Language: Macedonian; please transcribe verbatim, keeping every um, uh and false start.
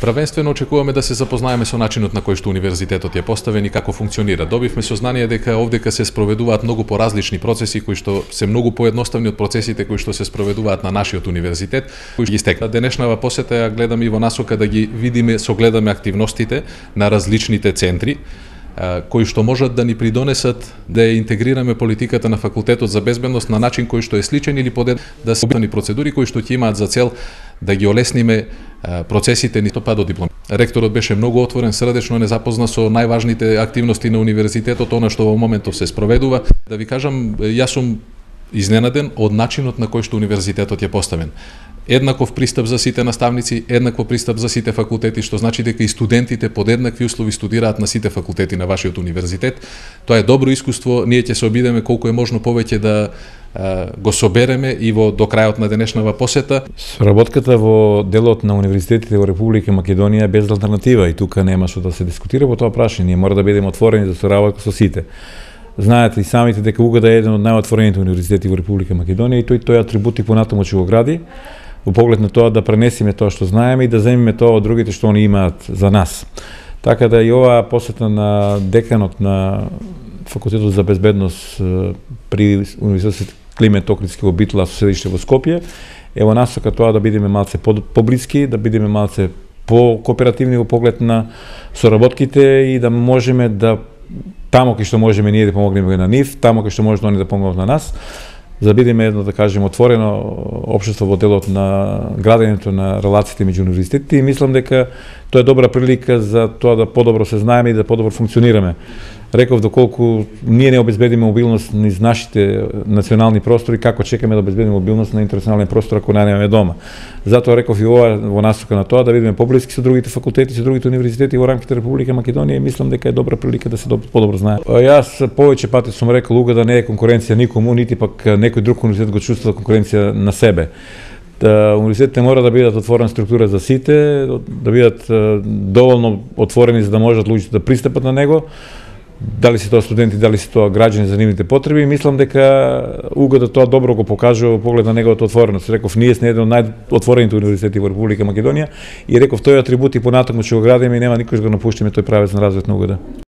Првенствено очекуваме да се запознаеме со начинот на кој што универзитетот е поставен и како функционира. Добивме сознание дека овдека се спроведуваат многу поразлични процеси кои што се многу поедноставни од процесите кои што се спроведуваат на нашиот универзитет, кои ги стекна. Денешнава посета ја гледам и во насока да ги видиме, согледаме активностите на различните центри кои што можат да ни придонесат да ја интегрираме политиката на факултетот за безбедност на начин кој што е сличен или подед да се обидни процедури кои што ќе имаат за цел да ги олесниме процесите ни па до диплома. Ректорот беше многу отворен, срдечно не запозна со најважните активности на универзитетот, она што во моментов се спроведува. Да ви кажам, јас сум изненаден од начинот на кој што универзитетот е поставен. Еднаков пристап за сите наставници, еднаков пристап за сите факултети, што значи дека и студентите под еднакви услови студираат на сите факултети на вашиот универзитет. Тоа е добро искуство, ние ќе се обидеме колку е можно повеќе да а, го собереме и во до крајот на денешнава посета. Соработката во делот на универзитетите во Република Македонија е без алтернатива и тука нема што да се дискутира во тоа прашање. Ние мора да бидеме отворени за соработка со сите. Знаете и самите дека УГД е еден од најотворените универзитети во Република Македонија и тој тој атрибути понатаму ќе го гради во поглед на тоа да пренесеме тоа што знаеме и да земеме тоа од другите што они имаат за нас. Така да и оваа посета на деканот на Факултетот за безбедност при Универзитет Климент Охридски во Битола со седиште во Скопје е во насока тоа да бидеме малце поблиски, да бидеме малце по-кооперативни во поглед на соработките и да можеме да тамо кај што можеме ние да помогнеме на нив, тамо кај што може они да помогнат на нас, за да бидеме едно, да кажем, отворено општество во делот на градењето на релациите меѓу универзитетите и мислам дека тоа е добра прилика за тоа да подобро се знаеме и да подобро функционираме. Реков доколку ние не обезбедиме мобилност низ нашите национални простори, како чекаме да обезбедиме мобилност на интернационален простор ако не немаме дома. Затоа реков и ова во насока на тоа да бидеме поблиски со другите факултети, со другите универзитети во рамките Република Македонија и мислам дека е добра прилика да се подобро знае. Јас повеќе пати сум рекол УГД да не е конкуренција никому, нити пак некој друг универзитет го чувствува конкуренција на себе. Да, универзитетите мора да бидат отворена структура за сите, да бидат доволно отворени за да можат луѓето да пристапат на него, дали се тоа студенти, дали се тоа граѓани за нивните потреби, и мислам дека УГД тоа добро го покажува во поглед на неговата отвореност. Реков, ние сме еден од најотворените универзитети во Република Македонија и реков тој атрибут и понатаму ќе го градиме и нема никош да го напуштиме тој правец на развојот на УГД.